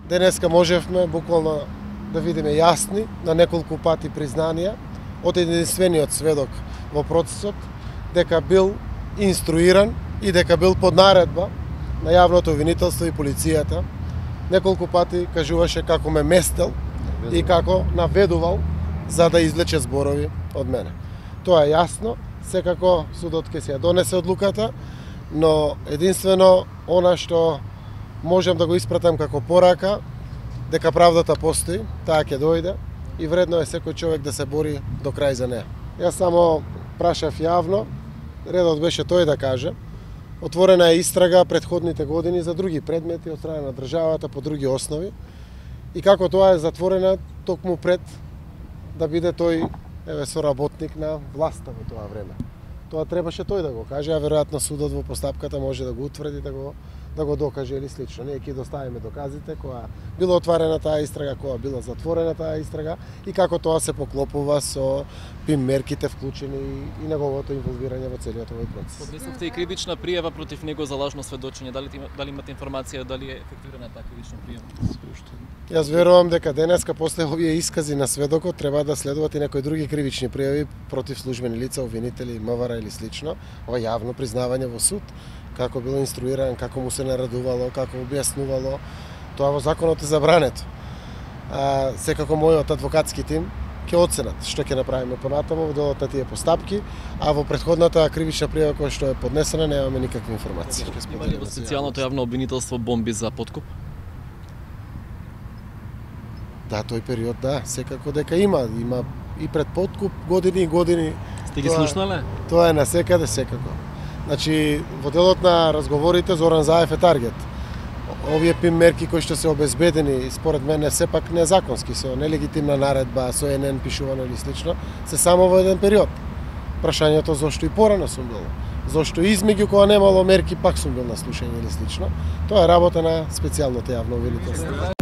Денеска можевме буквално да видиме јасни на неколку пати признанија од единствениот сведок во процесот дека бил инструиран и дека бил под наредба на јавното обвинителство и полицијата. Неколку пати кажуваше како ме местел и како наведувал за да извлече зборови од мене. Тоа е јасно, секако судот ќе се ја донесе одлуката, но единствено она што можам да го испратам како порака, дека правдата постои, таа ќе дојде и вредно е секој човек да се бори до крај за неа. Јас само прашав јавно, редот беше тој да каже, отворена е истрага претходните години за други предмети од страна на државата по други основи и како тоа е затворена токму пред да биде тој соработник на власта во тоа време. Тоа требаше тој да го каже, а веројатно судот во постапката може да го утврди, да го докаже или слично. Ние ќе доставиме доказите која била отворена таа истрага, која била затворена таа истрага и како тоа се поклопува со ПИМ мерките вклучени и неговото инволвирање во целиот овој процес. Поднесовте и кривична пријава против него за лажно сведочење. Дали имате информација дали е ефективирана таа кривична пријава? Јас верувам дека денеска после овие искази на сведокот треба да следуваат и некои други кривични пријави против службени лица, обвинители, МВР или слично. Ова јавно признавање во суд, како било инструиран, како му се наредувало, како објаснувало, тоа во законот е забрането. Секако мојот адвокатски тим ќе оценат што ќе направиме понатаму во делот на тие постапки, а во претходната кривична пријава која што е поднесена немаме никакви информации. Има ли во специјалното јавно обвинителство бомби за подкуп? Да, тој период да, секако дека има и пред подкуп години и години. Сте ги слушнале? Тоа е насекаде секако. Значи, во делот на разговорите Зоран Заев е таргет. Овие ПИМ мерки кои што се обезбедени, според мене, сепак незаконски, со нелегитимна наредба, со НН пишувано или слично, се само во еден период. Прашањето зошто и порано сум бил. Зошто измеѓу кога немало мерки пак сум бил на слушање или слично. Тоа е работа на специјалното јавно обвинителство.